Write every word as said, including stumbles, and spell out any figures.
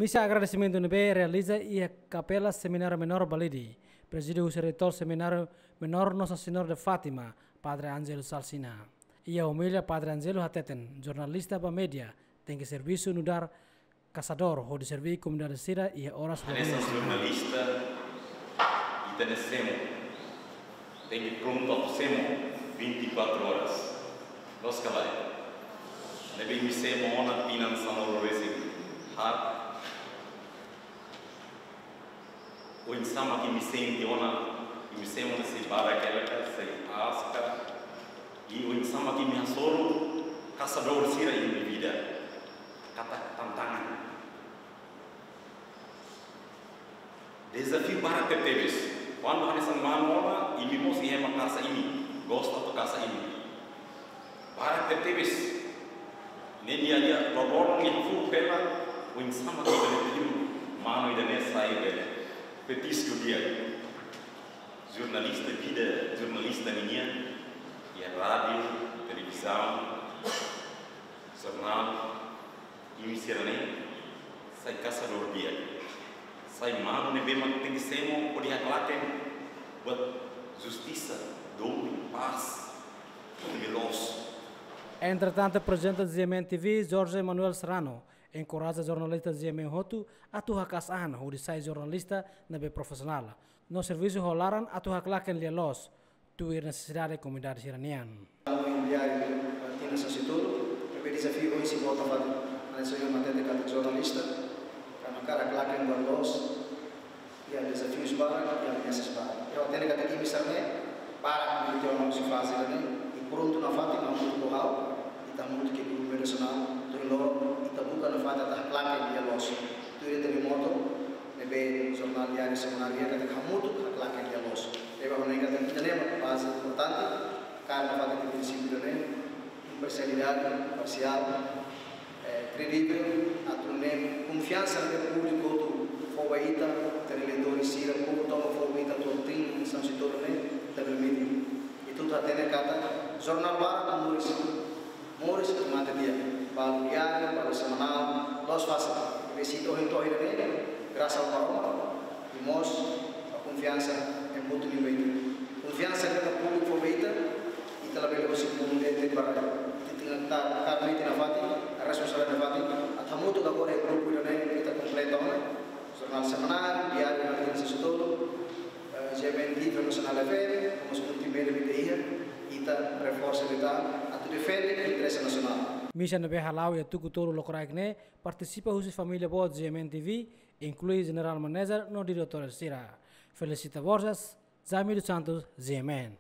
Misa agradesimentu ne'ebé realiza iha Kapela Semináriu Menór Balide, prezide husi Reitór Semináriu Menór Nossa Senhora de Fátima, Padre Ângelo Salsina. Iha omilia Padre Ângelo hateten, jornalista ba média tenke servisu nu'udar kasadór hodi serví komunidade sira iha oras. Hanesan jornalista, ita-nia semo tenke prontu atu semo vinte e quatro horas. Loos ka lae? Ne'ebé imi semo ona tinan sanulu-resin-haat, oinsá mak imi sente ona, imi semo ne'e sei barak hela ka, sei aas ka, i oinsá mak imi hasoru kasadór sira iha imi-nia vida. Katak tantangan. Dezafiu barak tebetebes. Kuandu hanesan manu ona, imi mós iha ema kasa imi, gosta atu kasa imi. Barak tebetebes. Ne'e nia lia loroloron nia fuu hela, oinsá mak ita bele tiru manu ida-ne'e sai be petisku di'ak. Jornalista vida, jornalista ninian, iha rádiu, televizaun, jornál, imi sira-ne'e sai kasadór di'ak. Sai manu ne'ebé mak tenke semo hodi haklaken buat justisa, domin, pás, ne'ebé loos. Entretantu, prezidente G M N T V, Jorge Manuel Serrano, enkoraja jornalista G M N hotu atu haka'as an hodi sai jornalista ne'ebé profisionál no servisu ho laran atu haklaken lia-loos tuir nesesidade komunidade sira-nian. Entaun, iha diáriu tinan sanulu-resin-tolu, ne'ebé dezafiu ohin sei bota fali. Hanesan ohin mak hatete katak jornalista, karena hakarak haklaken buat loos, iha dezafius barak, iha ameasas barak. Ha'u hatene katak imi sira-ne'e barak imi tiha ona husi faze ida-ne'e, i prontu nafatin hamutuk ho ha'u, ita hamutuk iha grupu redasionál, to'o ohin loron ita buka nafatin atu haklaken lia-loos. Tuir ita-nia moto ne'ebé jornál diáriu Semanáriu iha katak hamutuk haklaken lia-loos. Ne'ebé ha'u hanoin katak ida-ne'e mak baze importante, kaer nafatin prinsípiu ida-ne'e, imparsialidade, parsiál, eh, kredivel, atu nune'e konfiansa ne'ebé públiku hotu fó ba ita, ita-nia eleitór sira, povu tomak fó ba ita, to'o tinan sanulu-resin-tolu ne'e, ita bele metin. Ita hotu hatene katak jornál barak moris, moris mate di'ak, balu diáriu, balu semanál, loos fase. Ne'ebé se ita ohin to'o iha ne'e, grasas a Maromak, i mós ba konfiansa ema hotu liu ba ita. Konfiansa ne'ebé públiku fó ba ita, ita labele husik mundu de'it para ita tenke kaer metin nafatin, responsabilidade nafatin, atu hamutuk agora iha grupu ida-ne'e ita kompleta ona. Jornál Semanáriu, diáriu, jornál tinan sanulu-resin-tolu, eh, G M N T V, Nasionál F M, mós multimédia ita iha, ita reforsa ita atu defende interese nasionál. Misa ne'ebé hala'o iha tuku tolu lokraik ne'e partisipa husi família boot G M N T V, inklui general manager no diretór sira. Felicita Borges, Jamil dos Santos, G M N.